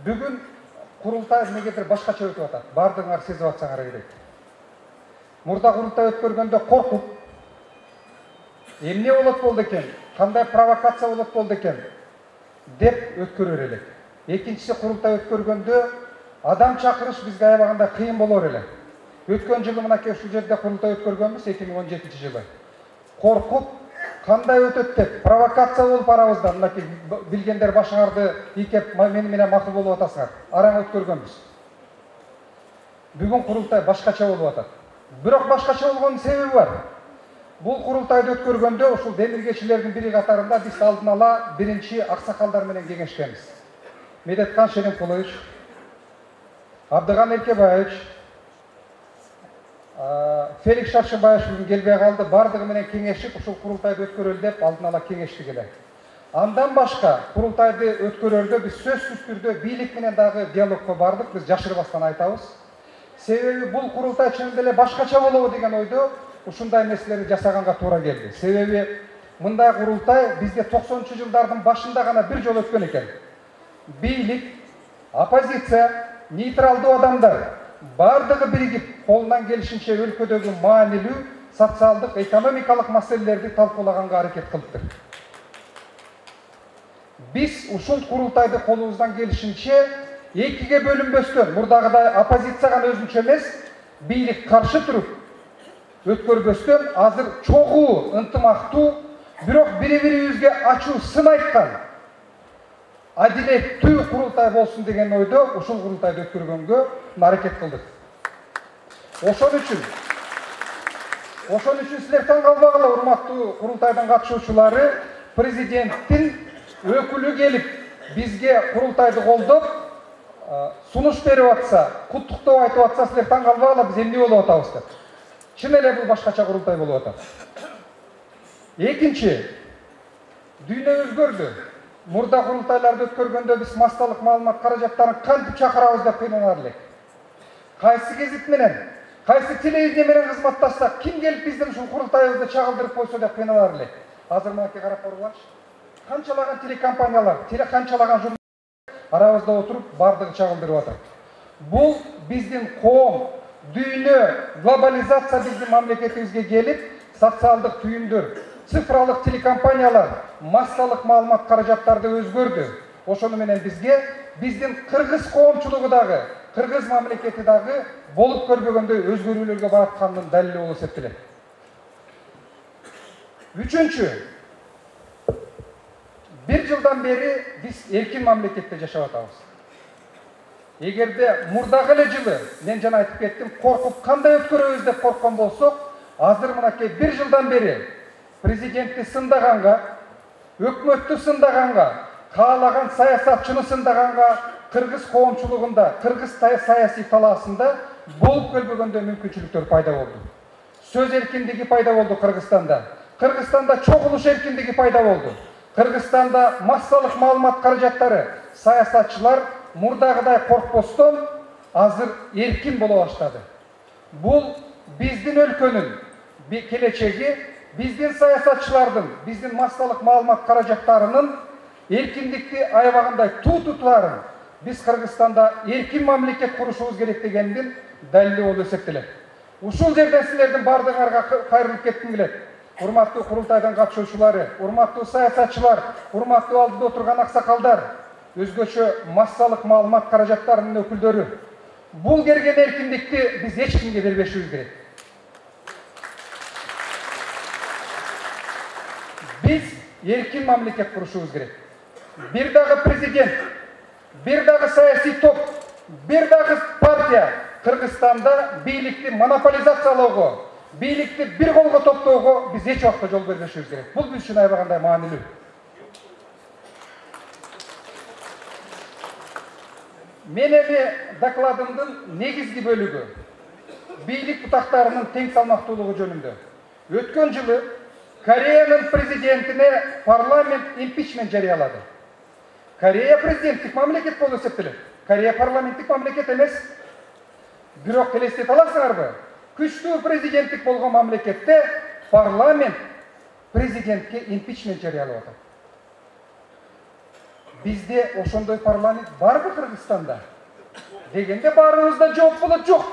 Бүгүн курултай эмнегедир башкача өтүп атат. Бардыгыңар сезип атсаңар керек. Мурда курултай өткөргөндө коркуп, эмне болот экен, кандай провокация болот экен деп өткөрөр элек. Экинчиси курултай өткөргөндө адам чакырыш бизге аябаганда кыйын болор эле. Өткөн жылы мынакей ушул жерде курултай өткөргөнбүз 2017-жылы. Коркуп, кандай өтөт деп провокация болуп арабызда мынакей билгендер башыңарды ийкеп мени менен макул болуп атасыңар. Араң өткөргөнбүз. Бүгүн курултай башкача болуп атат. Бирок башкача болгонун себеби бар. Бул курултайды өткөргөндө ушул демиргечилердин бири катарында биз алдын ала биринчи аксакалдар менен кеңешкенбиз. Медеткан Шеримкулович, Абдыган Эркебаевич, Феликс Шаршыбаев бүгүн келбей калды. Бардыгы менен кеңешип ушул курултайды өткөрөлү деп алдын ала кеңештик эле. Андан башка курултайды өткөрөрдө биз сөзсүз түрдө бийлик менен дагы диалогко бардык. Биз жашырбастан айтабыз. Себеби бул курултай чынында эле башкача болобу деген ойдо ушундай нерселерди жасаганга туура келди. Себеби мындай курултай бизде 90-жылдардын башында гана бир жолу өткөн экен. Бийлик, оппозиция, нейтралдуу адамдар бардыгы биригип колунан келишинче өлкөдөгү маанилүү социалдык, экономикалык маселелерди талкуулаганга аракет кылыптыр. Биз ушул курултайды колубуздан келишинче экиге бөлүнбөстөн, мурдагыдай оппозиция гана өзүнчө эмес, бийлик каршы туруп өткөрбөстөн азыр чогуу, ынтымактуу, бирок бири-бирибизге ачуу сын айткан адилеттүү курултай болсун деген ойдо ушул курултайды өткөргөнгө аракет кылдык. Ошон үчүн силер таң калбагыла, урматтуу курултайдын катышуучулары, президенттин өкүлү келип бизге курултайды колдоп сунуш берип атса, куттуктоо айтып атса, силер таң калбагыла, биз эмне болуп атабыз деп. Чын эле бул башкача курултай болуп атат. Экинчи, дүйнө өзгөрдү. Мурда курултайларды өткөргөндө биз массалык маалымат каражаттарын кантип чакырабыз деп кыйналар элек. Кайсы гезит менен, кайсы телевидение менен кызматташсак, ким келип биздин ушул курултайыбызды чагылдырып койсо деп кыйналар элек. Азыр мынакей карап көргүлачы. Канчалаган телекомпаниялар, канчалаган журналисттер арабызда отуруп бардыгы чагылдырып атат. Бул биздин коом, дүйнө, глобализация биздин мамлекетибизге келип, социалдык түйүндөр, цифралык телекомпаниялар массалык маалымат каражаттарды өзгөрдү. Ошону менен бизге биздин кыргыз коомчулугу дагы, кыргыз мамлекети дагы болуп көрбөгөндөй өзгөрүүлөргө баратканынын далили болуп эсептелет. Үчүнчү, бир жылдан бери биз эркин мамлекетте жашап атабыз. Эгерде мурдагы эле жылы мен жана айтып кеттим, коркуп кандай өткөрөбүз деп корккон болсок, азыр мынакей бир жылдан бери президентти сындаганга, өкмөттү сындаганга, каалаган саясатчыны сындаганга кыргыз коомчулугунда, кыргыз саясий талаасында болуп келбөгөндөй мүмкүнчүлүктөр пайда болду. Сөз эркиндиги пайда болду Кыргызстанда. Кыргызстанда чогулуш эркиндиги пайда болду. Кыргызстанда массалык маалымат каражаттары, саясатчылар мурдагыдай коркпостон азыр эркин боло баштады. Бул биздин өлкөнүн келечеги, биздин саясатчылардын, биздин массалык маалымат каражаттарынын эркиндикти аябагандай тутутарын биз Кыргызстанда эркин мамлекет курушубуз керек дегендин далили болуп эсептелет. Ушул жерден силердин бардыгыңарга кайрылып кетким келет. Урматтуу курултайдын катышуучулары, урматтуу саясатчылар, урматтуу алдыда отурган аксакалдар, өзгөчө массалык маалымат каражаттарынын өкүлдөрү. Бул келген эркиндикти биз эч кимге бербешибиз керек. Биз эркин мамлекет курушубуз керек. Бир дагы президент, бир дагы саясий топ, бир дагы партия Кыргызстанда бийликти монополизациялоого, бийликти бир колго топтоого биз эч убакта жол бербешибиз керек. Бул биз үчүн аябагандай маанилүү. Мен эми докладымдын негизги бөлүгү бийлик бутактарынын тең салмактуулугу жөнүндө. Өткөн жылы Кореянын президентине парламент импичмент жарыялады. Корея президенттик мамлекет болуп эсептелет. Корея парламенттик мамлекет эмес. Бирок элестете аласыңарбы? Күчтүү президенттик болгон мамлекетте парламент президентке импичмент жарыялап атат. Бизде ошондой парламент барбы Кыргызстанда? Дегенде баарыбызда жооп болот, жок.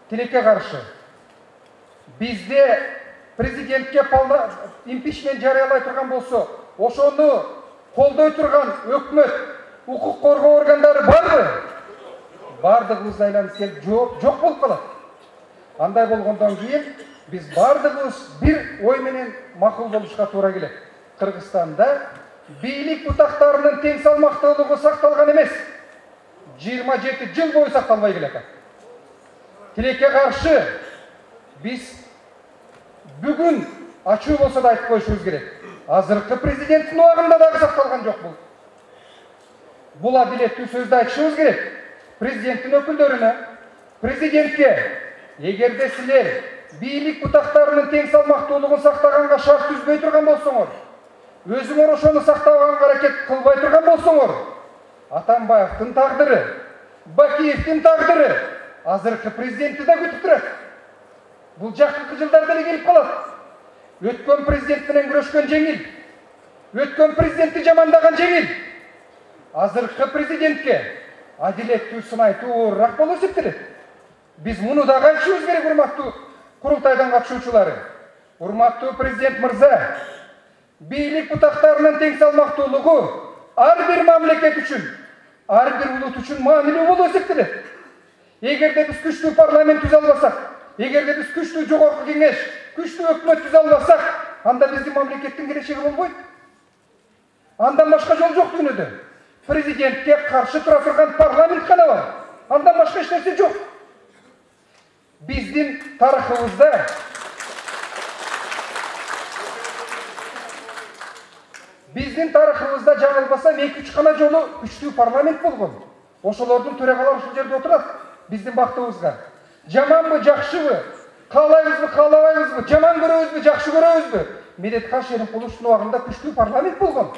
Тилекке каршы. Бизде президентке импичмент жарыялай турган болсо, ошону колдой турган өкмөт, укук коргоо органдары барбы? Бардыгыбыз айланып келип жок болуп калат. Андай болгондон кийин биз бардыгыбыз бир ой менен макул болушка туура келет. Кыргызстанда бийлик бутактарынын тең салмактуулугу сакталган эмес. 27 жыл бою сакталбай келет. Тилекке каршы биз бүгүн ачуу болсо да айтып коюшубуз керек. Азыркы президенттин убагында дагы сакталган жок бул. Бул адилеттүү сөздү айтышыбыз керек. Президенттин өкүлдөрүнө, президентке, эгерде силер бийлик бутактарынын тең салмактуулугун сактаганга шарт түзбөй турган болсоңор, өзүңөр ошону сактаганга аракет кылбай турган болсоңор, Атамбаевдин тагдыры, Бакиевдин тагдыры азыркы президентти да күтүп турат. Бул жакынкы жылдарда эле келип калат. Өткөн президент менен күрөшкөн жеңил, өткөн президентти жамандаган жеңил. Азыркы президентке адилеттүү сынайтуу оорураак болуп эсептелет. Биз муну дагы айтышыбыз керек, урматтуу курултайдан катышуучулары. Урматтуу президент мырза, бийлик бутактарынын тең салмактуулугу ар бир мамлекет үчүн, ар бир улут үчүн маанилүү болуп эсептелет. Эгерде биз күчтүү парламент түзө албасак, эгерде биз күчтүү жогорку кеңеш, күчтүү өкмөт түзө албасак, анда биздин мамлекеттин келечеги болбойт. Андан башка жол жок дүйнөдө. Президентке каршы тура турган парламент гана бар. Андан башка эч нерсе жок. Биздин тарыхыбызда жаңылбасам 2-3 гана жолу күчтүү парламент болгон. Ошолордун төрагалары ушул жерде отурат. Биздин бактыбызга. Жаманбы, жакшыбы, каалайбызбы, каалабайбызбы, жаман көрөбүзбү, жакшы көрөбүзбү? Медетхан Шеримкуловдун убагында күчтүү парламент болгон.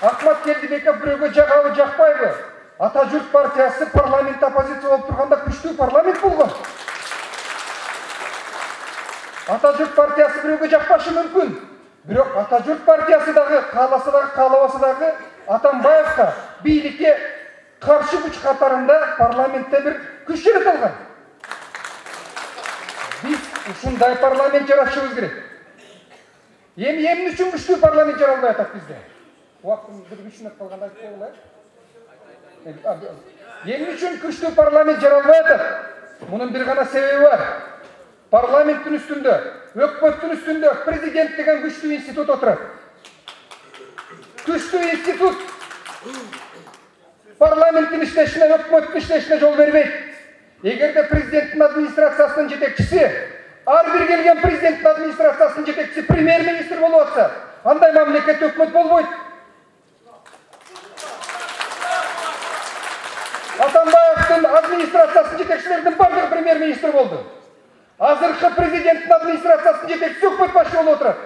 Акмат Келдибеков бирөөгө жагабы, жакпайбы? Ата журт партиясы парламент оппозиция болуп турганда күчтүү парламент болгон. Ата журт партиясы бирөөгө жакпашы мүмкүн. Бирок Ата журт партиясы дагы кааласа дагы, каалабаса дагы Атамбаевга бийликке каршы күч катарында парламентте бир күч жаратылган. Биз ушундай парламент жаратышыбыз керек. Эмне үчүн күчтүү парламент жаралбай атат бизде? Убактым бир 3 мүнөт калганда айтып коелу. Эмне үчүн күчтүү парламент жаралбай атат? Мунун бир гана себеби бар. Парламенттин үстүндө, өкмөттүн үстүндө президент деген күчтүү институт отурат. Күчтүү институт парламенттин иштешине, өкмөттүн иштешине жол бербейт. Эгерде президенттин администрациясынын жетекчиси, ар бир келген президенттин администрациясынын жетекчиси премьер-министр болуп атса, андай мамлекет өкмөт болбойт. Атамбаевдин администрациясынын жетекчилеринин бардыгы премьер-министр болду. Азыркы президенттин администрациясынын жетекчиси өкмөт башы болуп отурат.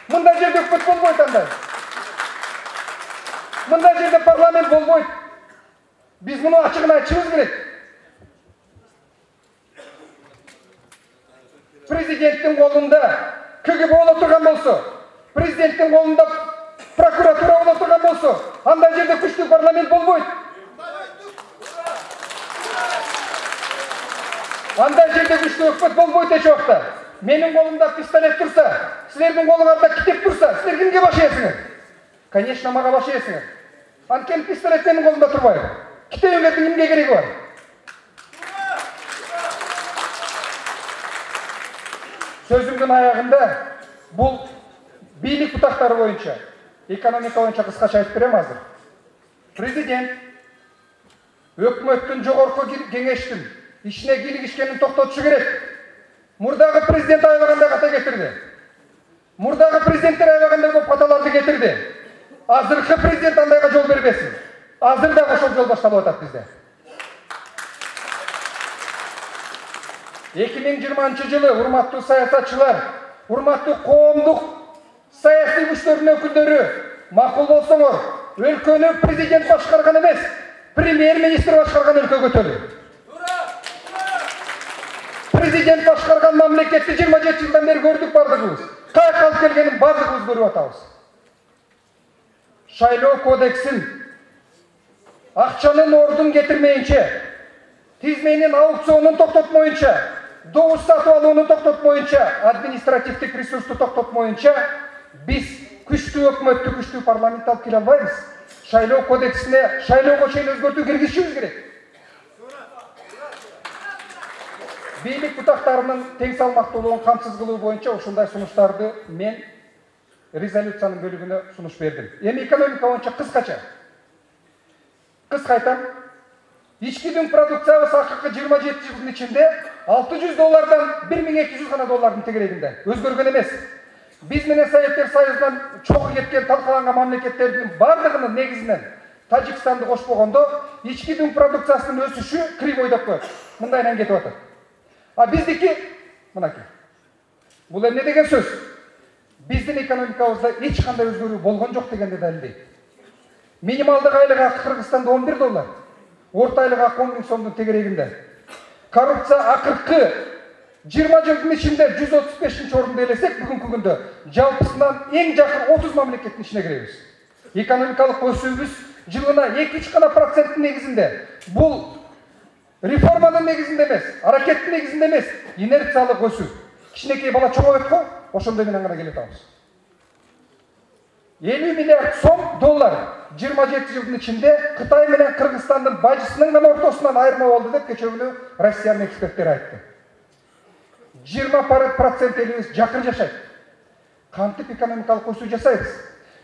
Мындай жерде өкмөт болбойт андай. Мындай жерде парламент болбойт. Биз муну ачыгын айтышыбыз керек. Президенттин колунда КГБ боло турган болсо, президенттин колунда прокуратура боло турган болсо, андай жерде күчтүү парламент болбойт. Андай жерде күчтүү өкмөт болбойт эч убакта. Менин колумда пистолет турса, силердин колуңарда китеп турса, силер кимге баш ийесиңер? Конечно, мага баш ийесиңер. Анткени пистолет менин колумда турбайбы? Китебиңердин кимге кереги бар? Сөзүмдүн аягында бул бийлик бутактары боюнча, экономика боюнча кыскача айтып берем азыр. Президент өкмөттүн жогорку кеңештин ишине кийлигишкенин токтотушу керек. Мурдагы президент аябагандай ката кетирди. Мурдагы президенттер аябагандай көп каталарды кетирди. Азыркы президент андайга жол бербесин. Азыр дагы ошол жол башталып атат бизде. 2020-жылы урматтуу саясатчылар, урматтуу коомдук саясий күчтөрдүн өкүлдөрү макул болсоңор, өлкөнү президент башкарган эмес, премьер-министр башкарган өлкө көтөрү. Президент башкарган мамлекетти 27 жылдан бери көрдүк бардыгыбыз. каяка алып келгенин баардыгыбыз көрүп атабыз. Шайлоо кодексин акчанын ордун кетирмейинче, тизменин аукционун токтотмоюнча, добуш сатып алууну токтотмоюнча, административдик ресурсту токтотмоюнча биз күчтүү өкмөттү, күчтүү парламент алып келе албайбыз. Шайлоо кодексине шайлоого чейин өзгөртүү киргизишибиз керек. Бийлик бутактарынын тең салмактуулугун камсыз кылуу боюнча ушундай сунуштарды мен резолюциянын бөлүгүнө сунуш бердим. Эми экономика боюнча кыскача айтам. Ички дүң продукциябыз акыркы 27 жылдын ичинде $600 1200 гана доллардын тегерегинде. Өзгөргөн эмес. Биз менен Советтер Союзунан чогуу кеткен талкаланган мамлекеттердин бардыгынын негизинен Тажикстанды кошпогондо ички дүң продукциясынын өсүшү кривойдоп коет. Мындайынан кетип атат. А биздики мынакей. Бул эмне деген сөз? Биздин экономикабызда эч кандай өзгөрүү болгон жок дегенди далилдейт. Минималдык айлык акы Кыргызстанда $11, орто айлык акы 10.000 сомдун тегерегинде. Коррупция акыркы 20 жылдын ичинде 135-орунду элесек, бүгүнкү күндө жалпысынан эң жакын 30 мамлекеттин ичине киребиз. Экономикалык өсүүбүз жылына 2-3% негизинде. Бул реформанын негизинде эмес, аракеттин негизинде эмес, инерциялык өсүү. Кичинекей бала чоңойт го, ошондой менен гана келе атабыз. $50 миллиард доллар 27 жылдын ичинде Кытай менен Кыргызстандын бажысынын гана ортосунан айырма болду деп кече күнү Россиянын эксперттери айтты. 20% элибиз жакыр жашайт. Кантип экономикалык өсүү жасайбыз?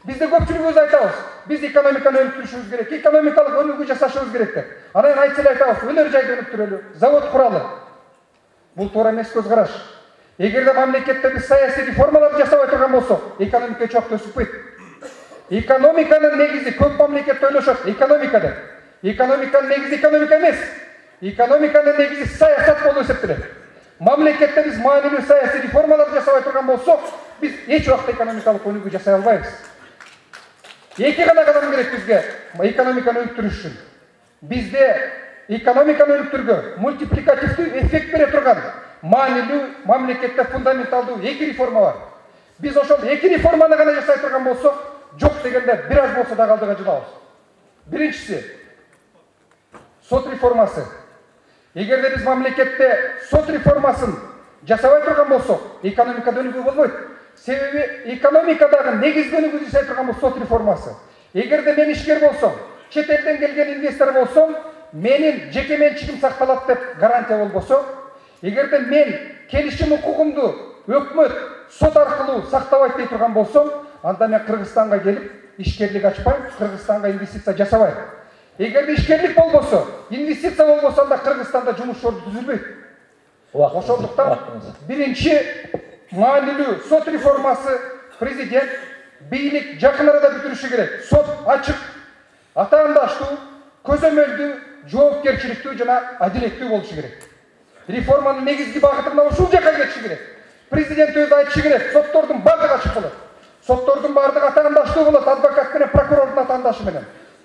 Бизде көпчүлүгүбүз айтабыз. Биз экономиканы өнүктүрүшүбүз керек, экономикалык өнүгүү жасашыбыз керек деп. Анан айтса эле айтабыз, өнөр жайды өнүктүрөлү, завод куралы. Бул туура эмес көз караш. Эгерде мамлекетте биз саясий реформаларды жасабай турган болсок, экономика чок өсүппөйт. Экономиканын негизи көп мамлекетте ойлошот, экономика деп. Экономиканын негизи экономика эмес. Экономиканын негизи саясат болуп эсептелет. Мамлекетте биз маанилүү саясий реформаларды жасабай турган болсок, биз эч убакта экономикалык өнүгүү жасай албайбыз. Эки гана кадам керек бизге экономиканы өнүктүрүш үчүн. Бизде экономиканы өнүктүргө мультипликативдүү эффект бере турган маанилүү мамлекетте фундаменталдуу эки реформа бар. Биз ошол эки реформаны гана жасай турган болсок, жок дегенде бир аз болсо да алдыга жылабыз. Биринчиси сот реформасы. Эгерде биз мамлекетте сот реформасын жасабай турган болсок, экономикада өнүгүү болбойт. Себеби экономикадагы негизги өнүгүү жасай турган бул сот реформасы. Эгерде мен ишкер болсом, чет элден келген инвестор болсом, менин жеке менчигим сакталат деп гарантия болбосо, эгерде мен келишим укугумду өкмөт сот аркылуу сактабайт дей турган болсом, анда мен Кыргызстанга келип ишкерлик ачпайм, Кыргызстанга инвестиция жасабайм. Эгерде ишкерлик болбосо, инвестиция болбосо, анда Кыргызстанда жумуш орду түзүлбөйт. Ошондуктан биринчи маанилүү сот реформасы президент бийлик жакын арада бүтүрүшү керек. Сот ачык, атаандаштуу, көзөмөлдүү, жоопкерчиликтүү жана адилеттүү болушу керек. Реформанын негизги багыты мына ушул жака кетиши керек. Президент өзү айтышы керек, соттордун бардыгы ачык болот. Соттордун бардыгы атаандаштуу болот, адвокат менен прокурордун атаандашы менен.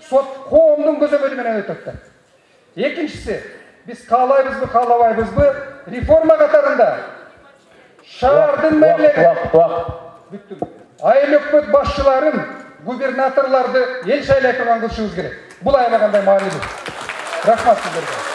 Сот коомдун көзөмөлү менен өтөт деп. Экинчиси, биз каалайбызбы, каалабайбызбы, реформа катарында шаардын мэрлери, айыл өкмөт башчыларын, губернаторлорду эл шайлай турган кылышыбыз керек. Бул аябагандай маанилүү. Рахмат сиздерге.